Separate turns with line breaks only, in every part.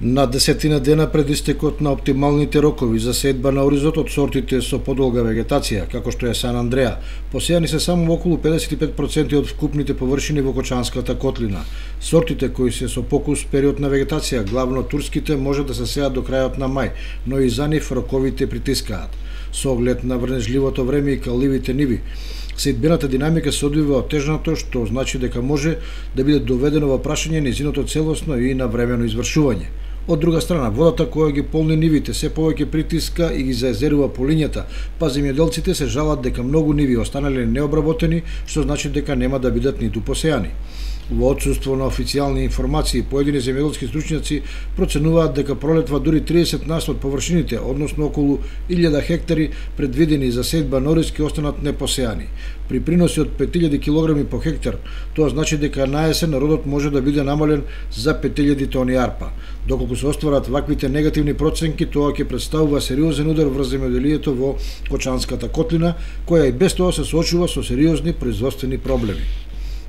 На десетина дена пред истекот на оптималните рокови за сејба на оризот од сортите со подолга вегетација, како што е Сан Андреа, посејани се само околу 55% од вкупните површини во Кочанската котлина. Сортите кои се со покус период на вегетација, главно турските, може да се сеат до крајот на мај, но и за нив роковите притискаат. Со оглед на врнежливото време и каливите ниви, сејбената динамика се одвива отежнато, што значи дека може да биде доведено во прашање нејзиното целосно и навремено извршување. Од друга страна, водата која ги полни нивите се повеќе притиска и ги заезерува по лињата, па земјоделците се жалат дека многу ниви останале необработени, што значи дека нема да бидат ниту посејани. Во отсуство на официјални информации, поедини земјоделски стручњаци проценуваат дека пролетва дури 30% од површините, односно околу 1000 хектари предвидени за сејба на ориз ќе останат непосејани. При приноси од 5000 килограми по хектар, тоа значи дека на есен родот може да биде намален за 5000 тони арпа. Доколку се остварат ваквите негативни проценки, тоа ќе представува сериозен удар врз земјоделието во Кочанската котлина, која и без тоа се соочува со сериозни производствени проблеми.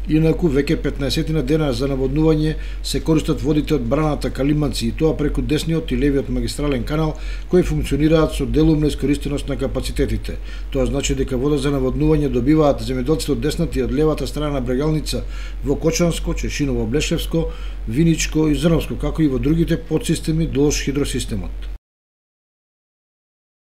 Инаку, веќе 15 дена за наводнување се користат водите од браната Калиманци и тоа преку десниот и левиот магистрален канал, кои функционираат со делумна искористеност на капацитетите. Тоа значи дека вода за наводнување добиваат земјоделците од десната и од левата страна на брегалница во Кочанско, Чешиново, Блешевско, Виничко и Зрновско, како и во другите подсистеми долж хидросистемот.